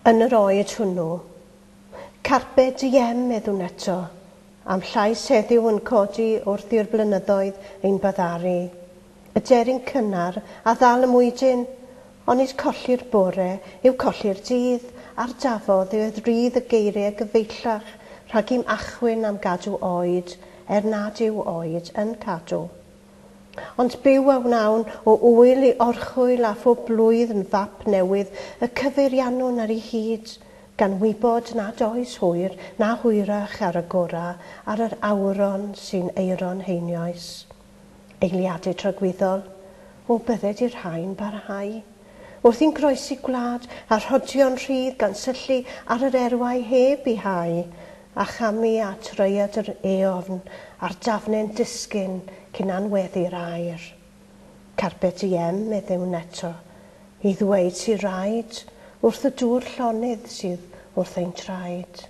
Yn yr oed hwnnw, carpe diem, meddwn eto, am llais heddiw yn codi wrth i'r blynyddoedd ein baddaru. Y deryn cynnar a ddal y mwydyn, onid colli'r bore yw colli'r dydd, a'r dafodd yw rydd y geiriau gyfeillach rhag i'm achwyn am gadw oed, er nad yw oed yn cadw. Ond byw a wnawn o wyl i orchwyl a phob blwydd yn fap newydd y cyfeiriannwn ar ei hyd, gan wybod nad oes hwyr na hwyrach ar y gora ar yr awron sy'n eiron heinioes. Eiliadau tragwyddol, o bydded i'r rhain barhau. Wrth i'n groesi gwlad a rhodio'n rhydd gan syllu ar yr erwau heb i hau, a chamu at rhaeadr eofn a'r dafnau'n disgyn cyn anweddu'r aer. Carpe diem, meddewn eto, i ddweud sy'n rhaid wrth y dŵr llonydd sydd wrth ein traed.